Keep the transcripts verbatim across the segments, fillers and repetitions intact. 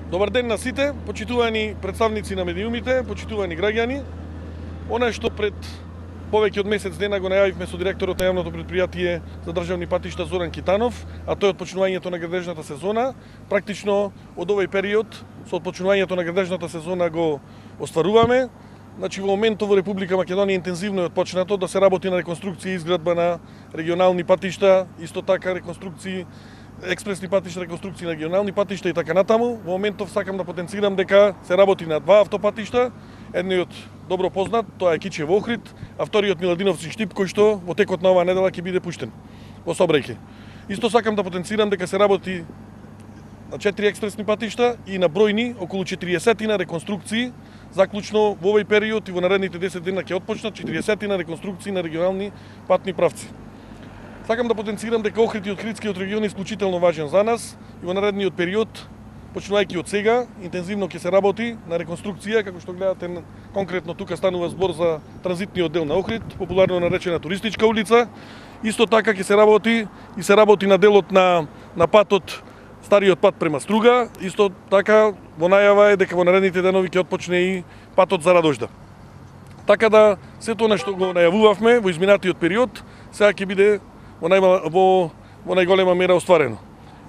Добар ден на сите, почитувани представници на медиумите, почитувани граѓани. Она што пред повеќе од месец дена го најавивме со директорот на јавното претпријатие за државни патишта Зоран Китанов, а тој од почнувањето на градежната сезона, практично од овој период со отпочнувањето на градежната сезона го остваруваме. Значи во моментот во Република Македонија интензивно е отпочнато да се работи на реконструкција и изградба на регионални патишта, исто така реконструкции експресни патишта, реконструкции на регионални патишта и така натаму. Во моментов сакам да потенцирам дека се работи на два автопатишта. Едниот добро познат, тоа е Кичево Охрид, а вториот Миладиновци Штип, кој што во текот на оваа недела ќе биде пуштен во сообраќај. Исто сакам да потенцирам дека се работи на четири експресни патишта и на бројни околу четириесет на реконструкции, заклучно во овој период и во наредните десет дена ќе отпочнат четириесет на реконструкции на регионални патни правци. Сакам да потенцирам дека Охрид и Охридскиот регион е исклучително важен за нас и во наредниот период, почнувајќи од сега, интензивно ќе се работи на реконструкција, како што гледате конкретно тука станува збор за транзитниот дел на Охрид, популарно наречена туристичка улица. Исто така ќе се работи и се работи на делот на на патот, стариот пат према Струга. Исто така во најава е дека во наредните денови ќе отпочне и патот за Радожда. Така да сето она што го најавувавме во изминатиот период, сега ќе биде во, најма, во, во најголема мера остварено.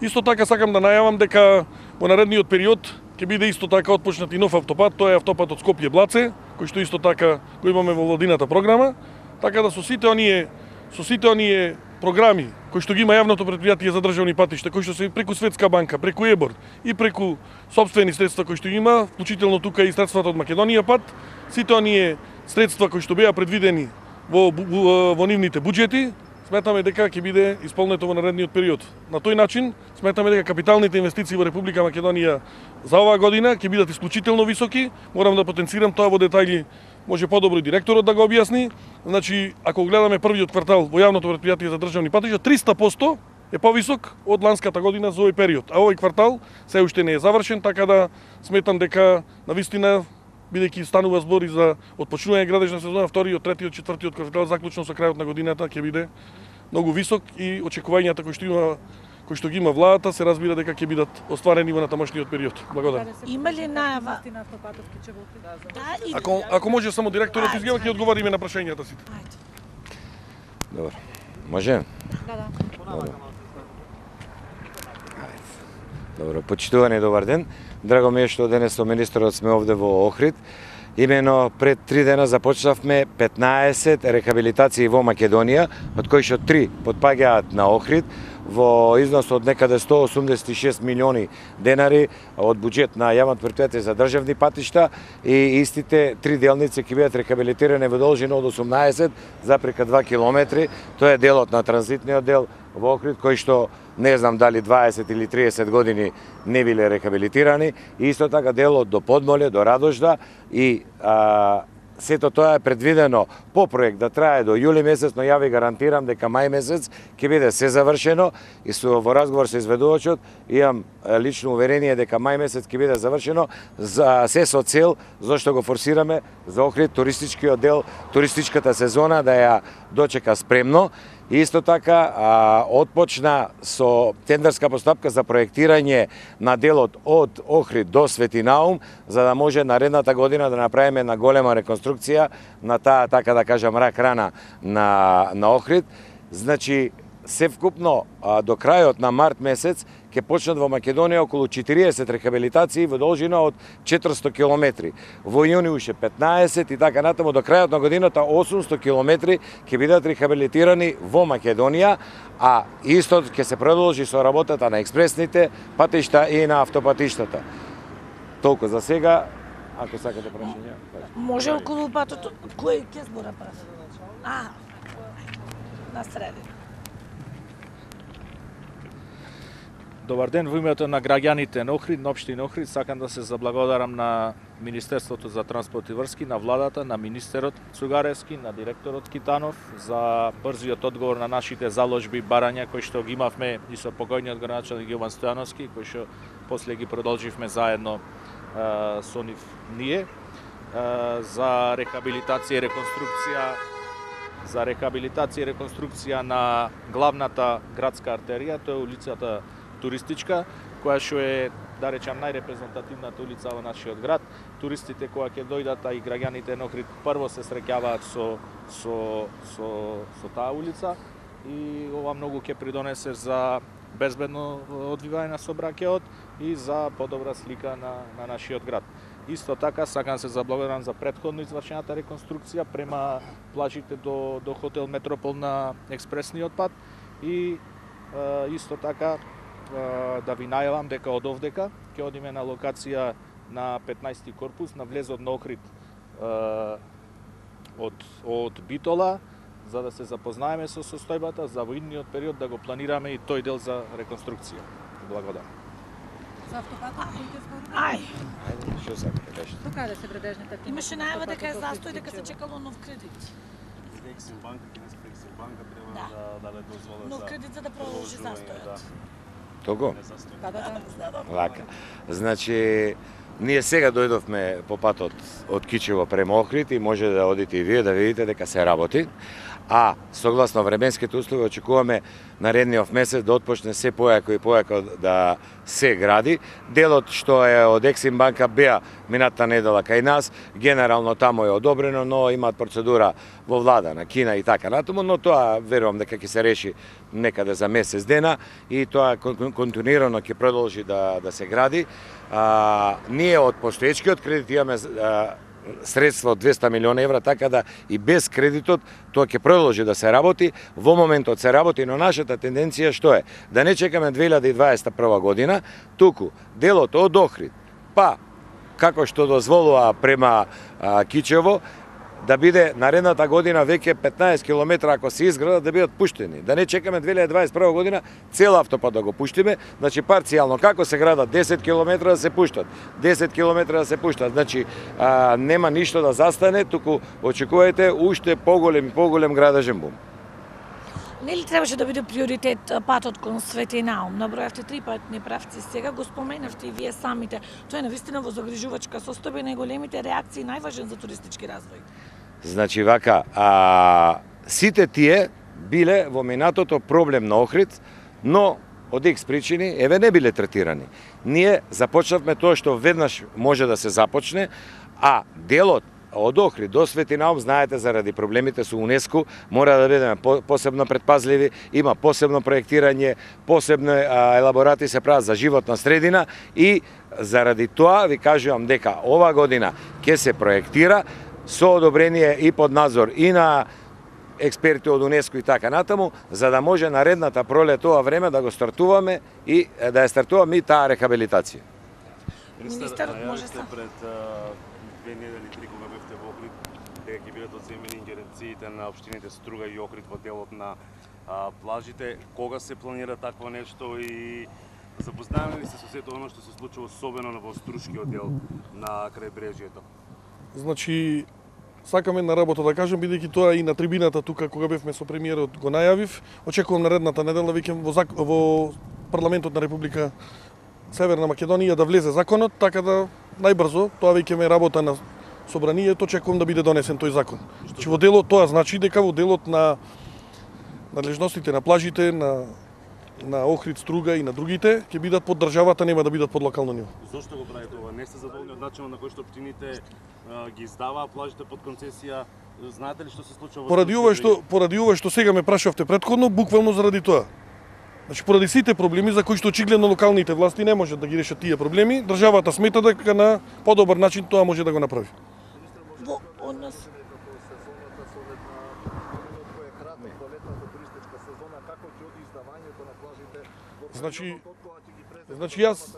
Исто така сакам да најавам дека во наредниот период ќе биде исто така отпочнат и нов автопат, тоа е автопатот Скопје-Блаце, кој што исто така го имаме во владината програма, така да со сите оние со сите оние програми кои што ги има јавното претпријатие за државни патишта, кои што се преку Светска банка, преку ЕБОР и преку сопствени средства кои што има, вклучително тука и средствата од Македонија пат, сите оние средства кои што беа предвидени во, во, во нивните буџети, сметаме дека ќе биде исполнето во наредниот период. На тој начин сметаме дека капиталните инвестиции во Република Македонија за оваа година ќе бидат исклучително високи. Морам да потенцирам тоа во детајли, може подобро и директорот да го објасни. Значи, ако гледаме првиот квартал во јавното претпријатие за државни патишта, триста проценти е повисок од ланската година за овој период. А овој квартал се уште не е завршен, така да сметам дека навистина, бидејќи станува збор и за отпочнување градежна сезона, вториот, третиот, четвртиот квартал заклучно со крајот на годината ќе биде многу висок и очекувањата кои што има кои што ги има владата се разбира дека ќе бидат остварени во натамошниот период. Благодарам. Има ли најава? Ако ако може само директорот изјава ќе одговориме на прашањата сите. Добро. Може? Да, да. Добро. Добро, почитувани добар ден. Драго ми е што денес со министерот сме овде во Охрид. Имено пред три дена започнавме петнаесет рехабилитации во Македонија, од кои што три потпаѓаат на Охрид во износ од некаде сто осумдесет и шест милиони денари од буџет на јавното претпријатие за државни патишта и истите три делници ќе бидат рехабилитирани во должина од осумнаесет запрека два километри. Тоа е делот на транзитниот дел во Охрид, кој што не знам дали дваесет или триесет години не биле рехабилитирани, и исто така делот до Подмоле, до Радожда, и а, сето тоа е предвидено по проект да трае до јули месец, но ја ви гарантирам дека мај месец ќе биде се завршено и со во разговор со изведувачот имам лично уверение дека мај месец ќе биде завршено, за се со цел зашто го форсираме за Охрид туристичкиот дел, туристичката сезона да ја дочека спремно. Исто така а, отпочна со тендерска постапка за проектирање на делот од Охрид до Свети Наум, за да може наредната година да направиме на голема реконструкција на таа, така да кажам, рак рана на, на Охрид. Значи, севкупно а, до крајот на март месец ќе почнат во Македонија околу четириесет рехабилитации во должина од четиристо километри. Во јуни уште петнаесет и така натаму до крајот на годината осумсто километри ќе бидат рехабилитирани во Македонија, а исто ќе се продолжи со работата на експресните патишта и на автопатиштата. Толку за сега, ако сакате прашања. Може околу патот кој ќе збора прав? А, на средина. Добар ден, во името на граѓаните на Охрид, на општина Охрид, сакам да се заблагодарам на Министерството за транспорт и врски, на владата, на министерот Цугаревски, на директорот Китанов за брзиот одговор на нашите заложби барања кои што ги имавме и со покојниот градоначалник Јован Стојановски, кои што после ги продолживме заедно а, со нив ние а, за рехабилитација и реконструкција за рехабилитација и реконструкција на главната градска артерија, тоа е улицата Туристичка, која што е да речам, најрепрезентативната улица во нашиот град. Туристите кога ќе дојдат, а и граѓаните на Охрид прво се среќаваат со со со со таа улица и ова многу ќе придонесе за безбедно одвивање на сообраќајот и за подобра слика на на нашиот град. Исто така сакам се заблагодарам за претходно извршената реконструкција према плажите до до хотел Метропол на експресниот пат и е, исто така е, да ви најавам дека од овдека ќе одиме на локација на петнаести корпус на влезот на Охрид е, од од Битола, за да се запознаеме со состојбата, за во идниот период да го планираме и тој дел за реконструкција. Благодарам. За автопатот кој ќе зборува? Ај, Ајде, што сакате кажете? Тука да се вредежните активности. имаше најава дека е Автопатот застој, дека се Охрид-Кичево. чекало нов кредит. Ексим банка, кинеска Ексим банка треба Да. да даде дозвола Нов за кредит за да продолжи продолжување, застојот. Того? не застој. Да, да, да. Лака. Значи, ние сега дојдовме по патот од Кичево према Охрид и може да одите и вие да видите дека се работи. А согласно временските услови очекуваме наредниот месец да отпочне се појако и појако да се гради. Делот што е од Ексим банка беа мината недела кај нас, генерално таму е одобрено, но имаат процедура во влада на Кина и така натаму, но тоа верувам дека ќе се реши некаде за месец дена и тоа кон- континуирано ќе продолжи да да се гради. А, ние од постоечкиот кредит имаме а, средства од двесте милиони евра, така да и без кредитот тоа ќе продолжи да се работи. Во моментот се работи, но нашата тенденција што е? Да не чекаме две илјади и дваесет и прва година, туку делот од Охрид, па како што дозволува према а, Кичево, да биде наредната година веќе петнаесет километра ако се изградат да бидат пуштени. Да не чекаме две илјади дваесет и прва година цел автопат да го пуштиме, значи парцијално како се градат десет километра да се пуштат, десет километра да се пуштат. Значи а, нема ништо да застане, туку очекувајте уште поголем и поголем градежен бум. Нели требаше да биде приоритет а, патот кон Свети Наум? Набројавте три патни правци, сега го споменавте и вие самите. Тоа е навистина во загрижувачка состојба и најголемите реакции најважен за туристички развој. Значи вака, а, сите тие биле во минатото проблем на Охрид, но од икс причини, еве не биле третирани. Ние започнавме тоа што веднаш може да се започне, а делот од Охрид до Свети Наум, знаете, заради проблемите со УНЕСКО, мора да бидеме посебно предпазливи, има посебно проектирање, посебно а, елаборати се прават за животна средина и заради тоа ви кажувам дека ова година ќе се проектира со одобрение и под надзор и на експерти од УНЕСКО и така натаму, за да може наредната пролет тоа време да го стартуваме и да ја стартуваме и таа рехабилитација. Министерот може најавивте сам. пред а, две недели, три кога бевте во Охрид, дека ќе бидат одземени ингеренциите на општините Струга и Охрид во делот на а, плажите. Кога се планира такво нешто и запознаваме ли се со сето оно што се случува особено во Струшкиот дел на крајбрежјето? Значи, сакам една работа да кажам, бидејќи тоа и на трибината тука кога бевме со премиерот го најавив. Очекувам наредната недела веќе во, зак... во парламентот на Република Северна Македонија да влезе законот, така да најбрзо, тоа веќе ме работа на собранието, очекувам да биде донесен тој закон. Значи во делот тоа значи дека во делот на надлежностите на плажите, на на Охрид, Струга и на другите ќе бидат под државата, нема да бидат под локално ниво. Зошто го правите ова? Не сте задоволни од начинот на кој што општините а, ги издаваа плажите под концесија? Знаете ли што се случува во Поради ова Струшкиот што поради ова што сега ме прашавте претходно, буквално заради тоа. Значи поради сите проблеми за кои што очигледно локалните власти не можат да ги решат тие проблеми, државата смета дека на подобар начин тоа може да го направи. Во однос Значи, значи јас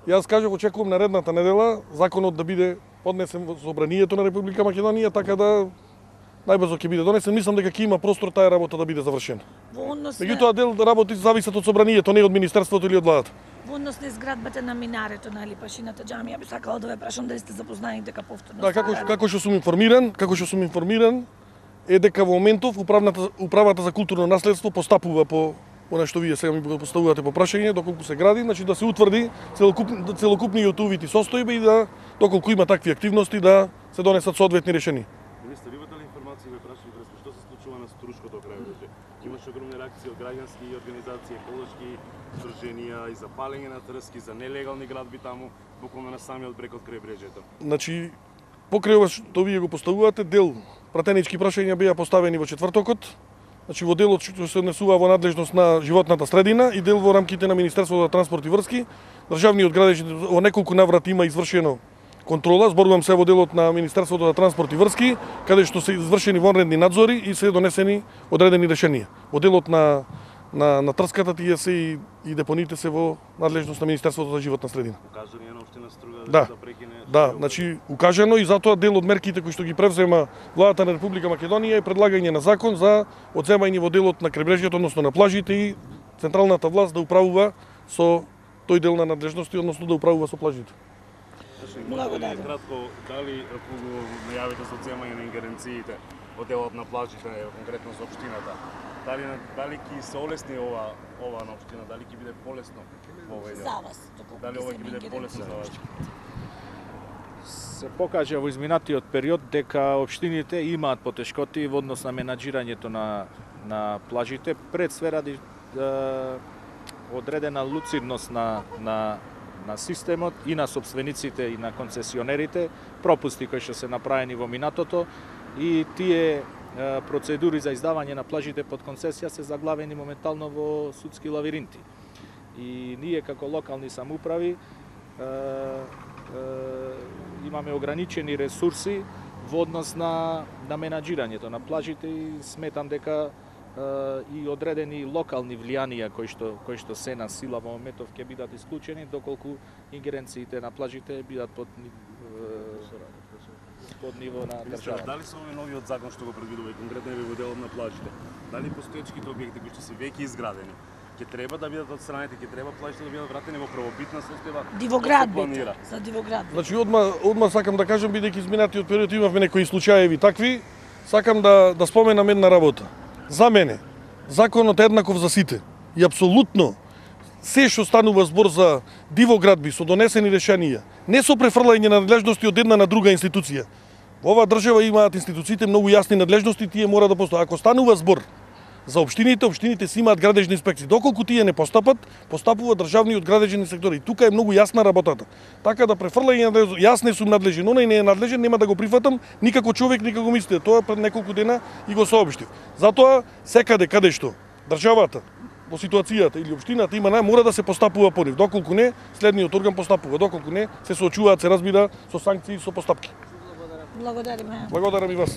јас кажав очекувам наредната недела законот да биде поднесен во собранието на Република Македонија, така да најбрзо ќе биде донесен. Мислам дека ќе има простор таа работа да биде завршена. во однос на Меѓутоа дел работи зависат од собранието, не од министерството или од владата. во однос на изградбата на минарето на Липашината џамија, би сакала да ве прашам дали сте запознаени дека повторно. Да, како како што сум информиран, како што сум информиран е дека во моментов управната управата за културно наследство постапува по она што вие сега ми го поставувате по прашање, доколку се гради, значи да се утврди целокупни целокупниот увид и состојба и да доколку има такви активности да се донесат соодветни решенија. Министер, имате ли информација, ве прашам, што се случува на Струшкото крајбрежје? Има имаше огромни реакции од граѓански организации, еколошки здруженија и за палење на трски, за нелегални градби таму, буквално на самиот брег од крајбрежјето. Значи, покрај ова што вие го поставувате, дел пратенички прашања беа поставени во четвртокот, значи во делот што се однесува во надлежност на животната средина и дел во рамките на Министерството за транспорт и врски. Државниот градежни во неколку наврати има извршено контрола, зборувам се во делот на Министерството за транспорт и врски, каде што се извршени вонредни надзори и се донесени одредени решенија. Во делот на на на трската тие се и, и депоните се во надлежност на Министерството за животна средина. Укажано е на општина Струга Да. да прекине. Да, значи укажено и затоа дел од мерките кои што ги превзема владата на Република Македонија е предлагање на закон за одземање во делот на крайбрежјето, односно на плажите и централната власт да управува со тој дел на надлежности, односно да управува со плажите. Благодарам. Кратко, дали ако го најавите за одземање на ингеренциите од делот на плажите, конкретно за општината, дали дали ќе се олесни ова ова на општина, дали ќе биде полесно во овој дел? За вас, доколку Дали ова ќе биде полесно за вас? Се покажа во изминатиот период дека општините имаат потешкоти во однос на менаџирањето на на плажите, пред све ради е, одредена луцидност на на на системот и на собствениците и на концесионерите, пропусти кои што се направени во минатото и тие е, процедури за издавање на плажите под концесија се заглавени моментално во судски лавиринти. И ние како локални самоуправи е, имаме ограничени ресурси во однос на, на менаџирањето на плажите и сметам дека е, и одредени локални влијанија кои што, кои што се на сила во моментов ќе бидат исклучени доколку ингеренциите на плажите бидат под, е, под ниво на Министер, државата. дали со овој новиот закон што го предвидува и конкретно во делот на плажите, дали постоечките објекти кои што се веќе изградени, ќе треба да бидат отстранети, ќе треба плажите да бидат вратени во правобитна состојба? Дивоградбите, за дивоградбите. Значи одма одма сакам да кажам, бидејќи изминатиот период имавме некои случаеви такви, сакам да да споменам една работа. За мене законот е еднаков за сите и апсолутно се што станува збор за дивоградби со донесени решенија, не со префрлање на надлежности од една на друга институција. Во оваа држава имаат институциите многу јасни надлежности, тие мора да постојат. Ако станува збор за општините, општините си имаат градежни инспекции. Доколку тие не постапат, постапува државниот градежен инспектор. И тука е многу јасна работата. Така да префрлање на јас не сум надлежен, оној не е надлежен, нема да го прифатам никако човек, никако мислите. Тоа пред неколку дена и го сообштив. Затоа секаде каде што државата во ситуацијата или општината има нај, мора да се постапува по нив. Доколку не, следниот орган постапува. Доколку не, се соочуваат, се разбира, со санкции и со постапки. Благодариме. Благодарам и вас.